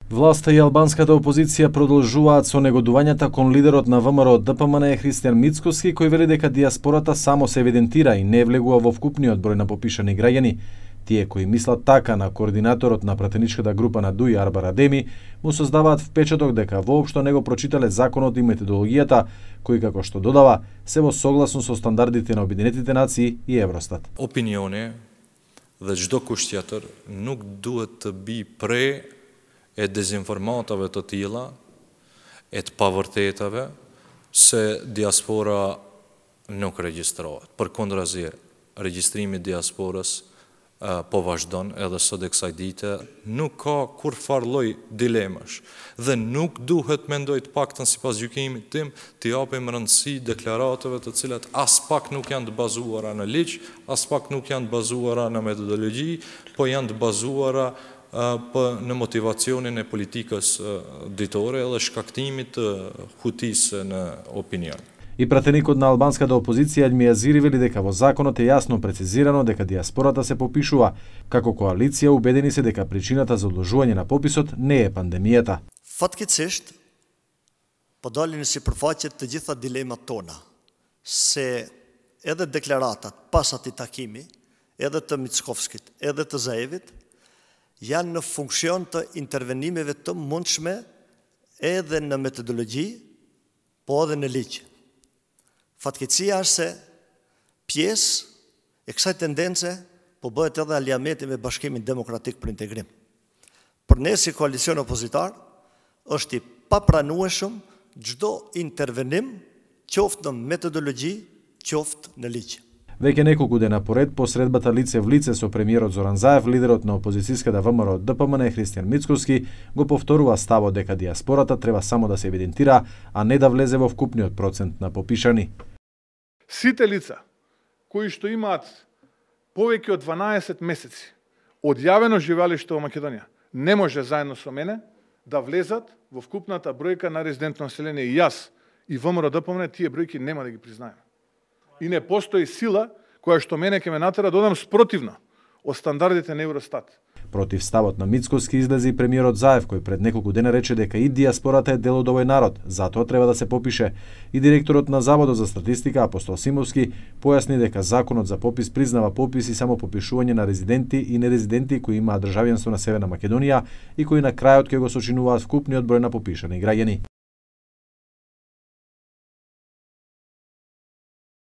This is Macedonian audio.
Власта и албанската опозиција продолжуваат со негодувањата кон лидерот на ВМРО ДПМН Христијан Мицкоски, кој вели дека дијаспората само се евидентира и не влегува во вкупниот број на попишани граѓани. Тие кои мислат така на координаторот на пратеничката група на ДУИ Арбар Адеми му создаваат впечаток дека воопшто не го прочитале законот и методологијата, кои, како што додава, се во согласно со стандардите на Обединетите нации и Евростат. Opinioni dhe çdo kusht tjetër nuk duhet të bi pre e dezinformatave të tilla, e të pavërtetave se diaspora nuk regjistrohet. Përkundrazi, regjistrimi i diasporës po vazhdon edhe sot e kësaj dite, nuk ka kur farë lloj dilemash dhe nuk duhet mendoj të paktën sipas gjykimit tim të japim rëndësi deklaratave të cilat as pak nuk janë të bazuara në ligj, as pak nuk janë të bazuara në metodologji, po janë të bazuara në motivacionin e politikës ditore dhe shkaktimit të hutisë në opinion. И пратеникот на албанската опозиција Альми Азири вели дека во законот е јасно прецизирано дека дијаспората се попишува. Како коалиција убедени се дека причината за одложување на пописот не е пандемијата. Fatkeqësisht, po dalin si përfaqe të gjitha dilemat tona, se edhe deklaratat pas atij takimi, edhe të Mickovskit, edhe të Zaevit, janë në funksion të intervenimeve të mundshme edhe në metodologji, po edhe në ligj. Fatkeqësia është se pjesë e kësaj tendence po bëhet edhe aliameti me Bashkimin Demokratik për Integrim. Për ne si koalicion opozitar është i papranueshëm çdo intervenim, qoftë në metodologji, qoftë në ligj. Веќе неколку дена поред по средбата лице в лице со премиерот Зоран Заев, лидерот на опозицијската ВМРО ДПМН Христијан Мицкоски го повторува ставот дека дијаспората треба само да се евидентира, а не да влезе во вкупниот процент на попишани. Сите лица кои што имаат повеќе од 12 месеци одјавено живеалиште во Македонија, не може заедно со мене да влезат во вкупната бројка на резидентно население. И јас и ВМРО ДПМН тие бројки нема да ги признаеме. И не постои сила која што мене ќе ме натера да одам спротивно од стандардите на Евростат. Против ставот на Мицкоски излезе и премиерот Заев, кој пред неколку дена рече дека и дијаспората е дел од овој народ, затоа треба да се попише. И директорот на Заводот за статистика Апостол Симовски појасни дека законот за попис признава попис и само попишување на резиденти и нерезиденти кои имаат државјанство на Северна Македонија и кои на крајот ќе го сочинуваат вкупниот број на попишани граѓани.